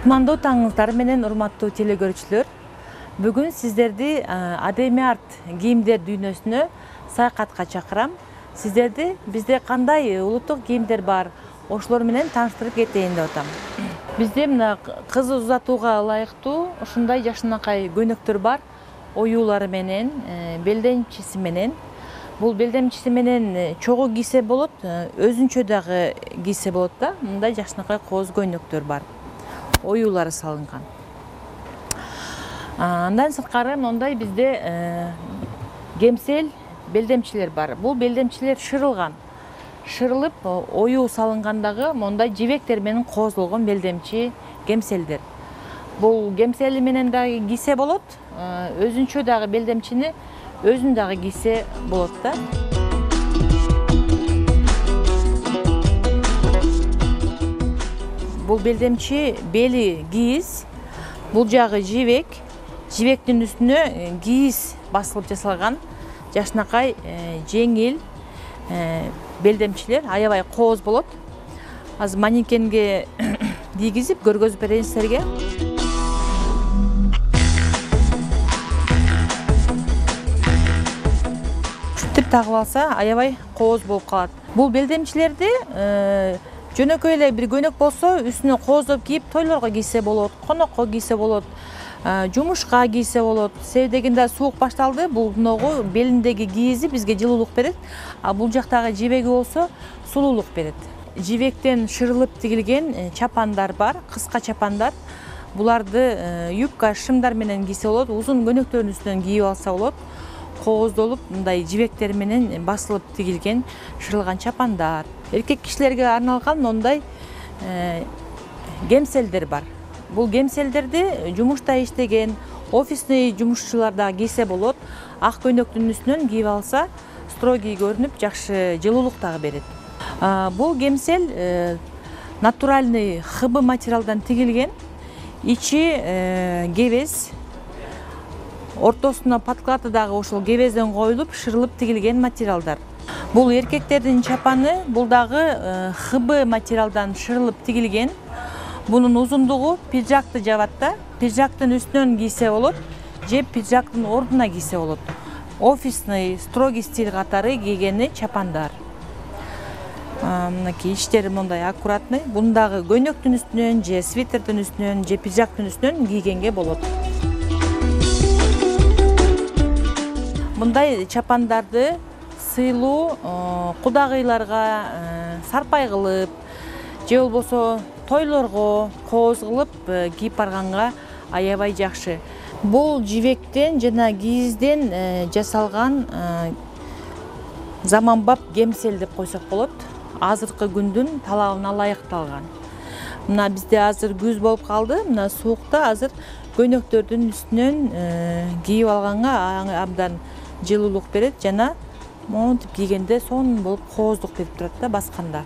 Кутмандуу таңыңыздар менен урматтуу телекөрүүчүлөр. Бүгүн сиздерди Адеми арт кийимдер дүйнөсүнө саякатка чакырам. Сиздерди бизде кандай улуттук кийимдер бар, ошолор менен тааныштырып кетейин деп атам. Бизде мына кыз узатууга ылайыктуу ушундай жакшынакай көйнөктөр бар. Оюулары менен, белдемчиси менен. Бул белдемчиси менен чогуу кийсе болот, өзүнчө дагы кийсе болот да. Мындай жакшынакай кооз көйнөктөр бар. Оюулары салынган. Андан сырткары мондай бизде кемсел белдемчилер бар. Бул белдемчилер шырылган. Шырылып, оюу салынгандагы мондай жибектер менен коозулган белдемчи кемселдер. Бул кемсели менен дагы кийсе болот, өзүнчө дагы белдемчини өзүн дагы кийсе болот да. Бул белдемчи бели кийиз, бул жагы жибек. Жибектин үстүнө кийиз басылып жасалган жакшынакай жеңил белдемчилер, аябай кооз болот. Азыр манекенге кийгизип көргөзүп берейин силерге. Ушинтип тагып алса, аябай кооз болуп калат. Бул белдемчилерди жөнөкөй эле бир көйнөк болсо, үстүнө кооздоп кийип, тойлорго кийсе болот, конокко кийсе болот, жумушка кийсе болот. Себеби дегенде суук башталды, бул ногу белиндеги кийизи бизге жылуулук берет, а бул жактагы жибеги болсо сулуулук берет. Жибектен шырылып тигилген чапандар бар, кыска чапандар. Буларды юбка, шымдар менен кийсе болот, узун көйнөктөрдүн үстүнөн кийип алса болот. Кооздолуп, мындай жибектер менен басылып тигилген шырылган чапандар. Эркек кишилерге арналган мондай кемселдер бар. Бул кемселдерди жумушта иштеген офисный жумушчулар да кийсе болот. Ак көйнөктүн үстүнөн кийип алса, строгий көрүнүп, жакшы жылуулук дагы берет. Бул кемсел натуральный хыбы материалдан тигилген. Ичи кебез, ортосуна подклады дагы ошол кебезден коюлуп, шырылып тигилген материалдар. Бул эркектердин чапаны, бул дагы хыбы материалдан шырылып тигилген. Бунун узундугу пиджакты жабат да. Пиджактын үстүнөн кийсе болот, же пиджактын ордуна кийсе болот. Офисный, строгий стиль катары кийгени чапандар. Мынакей иштери мондай аккуратный. Буну дагы көйнөктүн үстүнөн, же свитердин үстүнөн, же пиджактын үстүнөн кийгенге болот. Мындай чапандарды сыйлуу кудагыйларга сарпай кылып, же болбосо тойлорго кооз кылып кийип барганга аябай жакшы. Бул жибектен жана кийизден жасалган заманбап кемсел деп койсок болот. Азыркы күндүн талабына ылайыкталган. Мына бизде азыр күз болуп калды. Мына суукта азыр көйнөктөрдүн үстүнөн кийип алганга абдан жылуулук берет жана монтип кийгенде сонун болуп кооздук берип турат да басканда.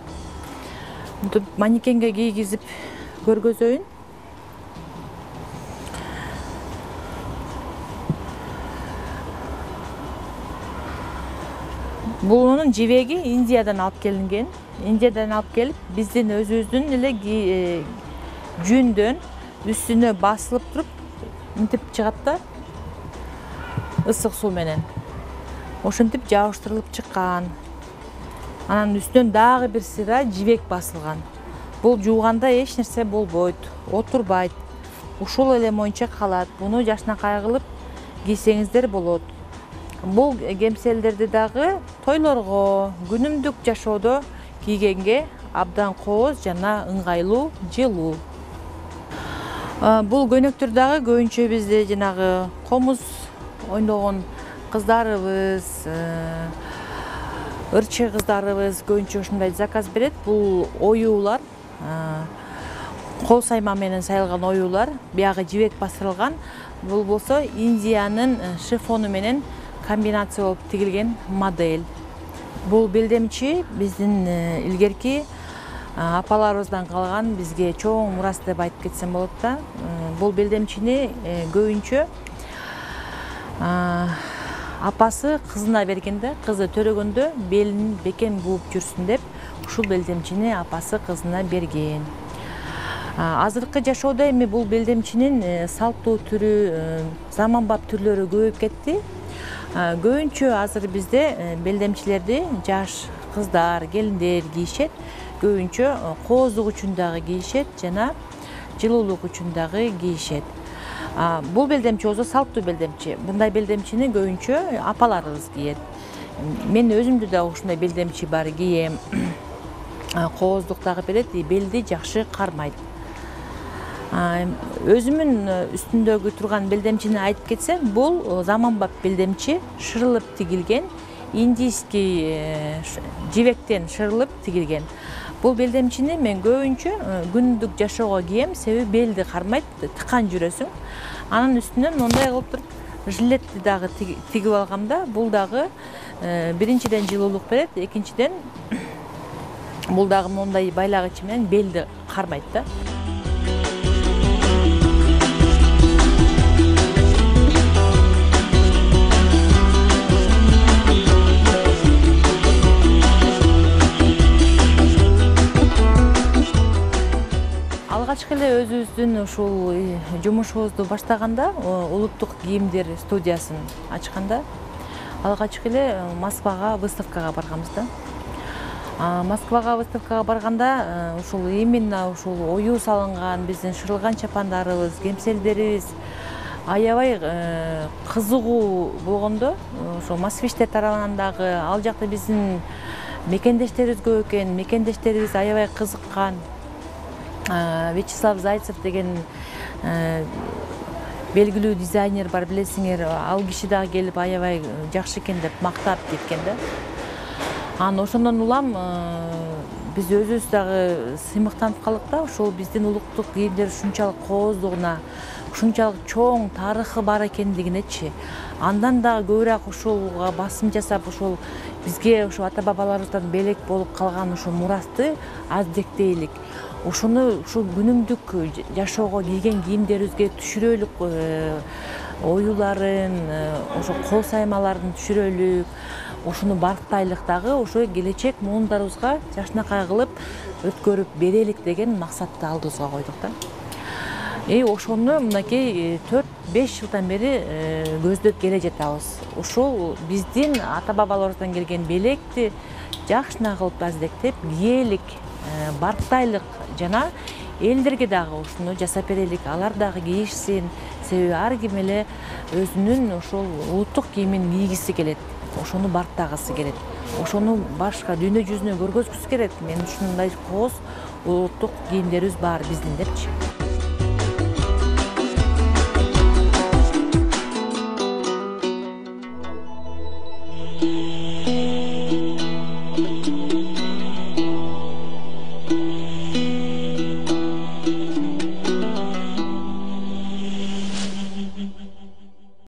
Мынтип манекенге кийгизип көргөзөйүн. Бунун жибеги Индиядан алып келинген. Индиядан алып келип, биздин өзүбүздүн эле жүндөн үстүнө басылып туруп, мынтип чыгат да ысык суу менен. Ошентип жабыштырылып чыккан. Анан үстүнөн дагы бир сыйра жибек басылган. Бул жууганда эч нерсе болбойт, отурбайт. Ушул эле моюнча калат. Буну жакшынакай кылып кийсеңиздер болот. Бул кемселдерди дагы тойлорго, күнүмдүк жашоодо кийгенге абдан кооз жана ыңгайлуу, жылуу. Бул көйнөктөр дагы көбүнчө бизде жанагы комуз ойногон кыздарыбыз, ырчы кыздарыбыз көбүнчө ушундай заказ берет. Бул оюулар, кол сайма менен сайылган оюулар, биягы жибек басырылган. Бул болсо Индиянын шифону менен комбинация болуп тигилген модель. Бул белдемчи биздин илгерки апаларыбыздан калган бизге чоң мурас деп айтып кетсем болот да. Бул белдемчини көбүнчө апасы кызына бергенде, кызы төрөгөндө белин бекем бууп жүрсүн деп ушул белдемчини апасы кызына берген. Азыркы жашоодо эми бул белдемчинин салттуу түрү, заманбап түрлөрү көбөйүп кетти. Көбүнчө азыр бизде белдемчилерди жаш кыздар, келиндер кийишет. Көбүнчө кооздук үчүн дагы кийишет жана жылуулук үчүн дагы кийишет. Бул белдемчи болсо салттуу белдемчи. Мындай белдемчини көбүнчө апаларыбыз кийет. Мен өзүмдө дагы ушундай белдемчи бар, кийем. Кооздук дагы берет, белди жакшы кармайт. Өзүмүн үстүндөгү турган белдемчини айтып кетсем, бул заманбап белдемчи, шырылып тигилген, индийский жибектен шырылып тигилген. Бул белдемчини мен көбүнчө күндүк жашоого кийем, себеби белди кармайт, тыкан жүрөсүң. Анын үстүнөн мындай кылып туруп жилетти дагы тигип алгамда, бул дагы биринчиден жылуулук берет, экинчиден бул дагы мындай байлагычы менен белди кармайт да. Алгачкы эле өзүбүздүн ушул жумушубузду баштаганда, улуттук кийимдер студиясын ачканда, алгачкы эле Москвага выставкага барганбыз да. Москвага выставкага барганда ушул именно ушул ою салынган биздин шырылган чапандарыбыз, кемселдерибиз аябай кызыгуу болгондо, ошо москвичтер тарабынан дагы ал жакта биздин мекендештерибиз көп экен, мекендештерибиз аябай кызыккан. Вячеслав Зайцев деген белгилүү дизайнер бар, билесиңер, ал киши дагы келип аябай жакшы экен деп мактап кеткен да. Ошондон улам биз өзүбүз дагы сыймыктанып калдык да, ошол биздин улуттук кийимдер ушунчалык кооздугуна, ушунчалык чоң тарыхы бар экендигинечи. Андан дагы көбүрөөк ушуга басым жасап, ошол бизге ошо ата бабаларыбыздан белек болуп калган ушул мурасты аздектейлик. Ошону ушул күнүмдүк жашоого кийген кийимдерибизге түшүрөлүк, оюларын, ошо кол саймаларын түшүрөлүк, ошону барктайлык дагы ошо келечек муундарыбызга жакшынакай кылып өткөрүп берелик деген максатты алдыбызга койдук да. Ошону мынакей 4-5 жылдан бери көздөп келе жатабыз. Ошол биздин ата бабаларыбыздан келген белекти жакшына кылып аздектеп киелик, барктайлык жана элдерге дагы ушуну жасап берелик, алар дагы кийишсин. Себеби ар ким эле өзүнүн ошол улуттук кийимин кийгиси келет, ошону барктагысы келет, ошону башка дүйнө жүзүнө көргөзгүсү келет. Мен ушундай кооз улуттук кийимдерибиз бар биздин депчи.